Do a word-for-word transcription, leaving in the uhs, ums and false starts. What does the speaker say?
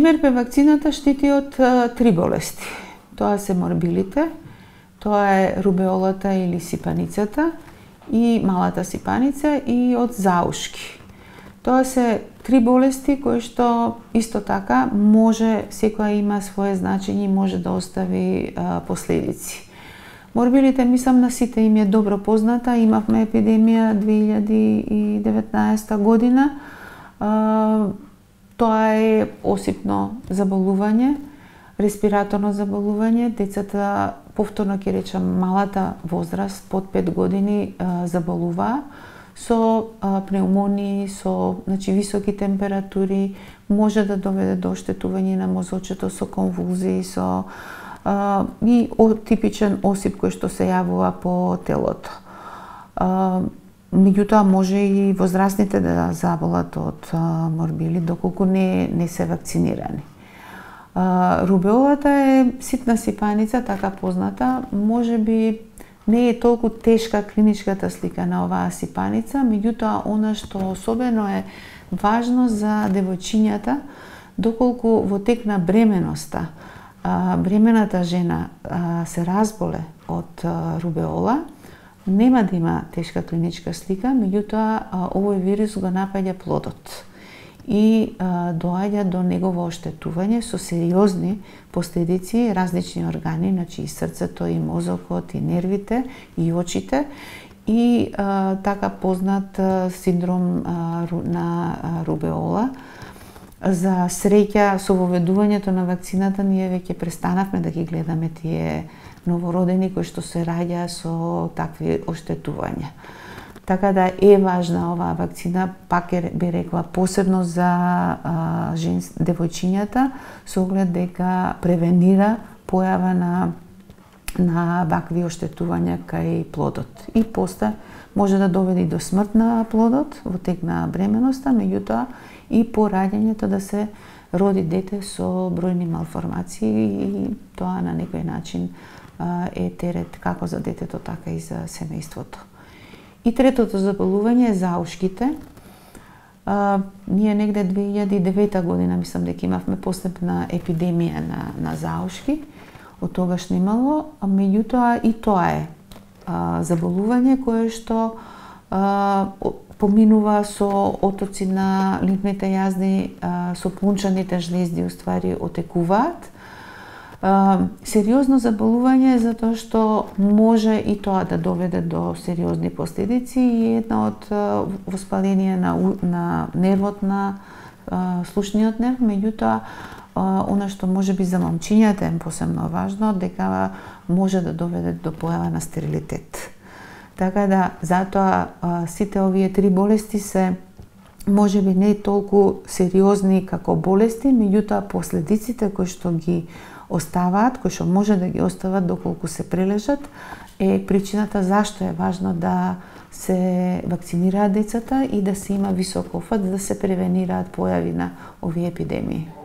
ем ер пе вакцината штити од три болести. Тоа се морбилите, тоа е рубеолата или сипаницата и малата сипаница и од заушки. Тоа се три болести кои што исто така може, секоја има свое значење и може да остави а, последици. Морбилите, мислам, на сите им е добро позната. Имавме епидемија две илјади и деветнаесета година. А, тоа е осипно заболување, респираторно заболување. Децата, повторно ќе речам, малата возраст, под пет години, а, заболуваа со а, пнеумонии, со значи, високи температури, може да доведе до оштетување на мозочето, со конвулзии, со а, и о, типичен осип кој што се јавува по телото. А, меѓутоа може и возрастните да заболат од а, морбили доколку не не се вакцинирани. А, рубеолата е ситна сипаница, така позната, можеби не е толку тешка клиничката слика на оваа сипаница, меѓутоа она што особено е важно за девојчињата, доколку во тек на бременоста а, бремената жена а, се разболе од а, рубеола, нема да има тешка клиничка слика, меѓутоа а, овој вирус го напаѓа плодот и а, доаѓа до негово оштетување со сериозни последици, различни органи, значи и срцето, и мозокот, и нервите, и очите, и а, така познат а, синдром а, на а, рубеола. За среќа, со воведувањето на вакцината, ние веќе престанавме да ги гледаме тие новородени кои што се раѓа со такви оштетувања. Така да е важна оваа вакцина, пак би рекла, посебно за а, женс, девојчињата, со оглед дека превенира појава на, на вакви оштетувања кај плодот. И после може да доведе и до смрт на плодот во тек на бременоста, меѓутоа и по раѓањето да се роди дете со бројни малформации и тоа на некој начин а, е терет како за детето, така и за семејството. И третото заболување е заушките. А, ние негде две илјади и девета година, мислам дека имавме последна епидемија на, на заушки, од тогаш немало, а меѓутоа и тоа е а, заболување кое што а, поминува со отоци на лимфните јазни, а, со плунчаните жлезди, уствари, отекуваат. Uh, сериозно заболување затоа што може и тоа да доведе до сериозни последици и една од uh, воспаление на, на нервот на uh, слушниот нерв, меѓутоа uh, она што може би за момчињата е посебно важно, дека може да доведе до појава на стерилитет. Така да, затоа uh, сите овие три болести се може би не толку сериозни како болести, меѓутоа последиците кои што ги оставаат, кои што може да ги остават доколку се прележат, е причината зашто е важно да се вакцинираат децата и да се има висок офат, да се превенираат појави на овие епидемии.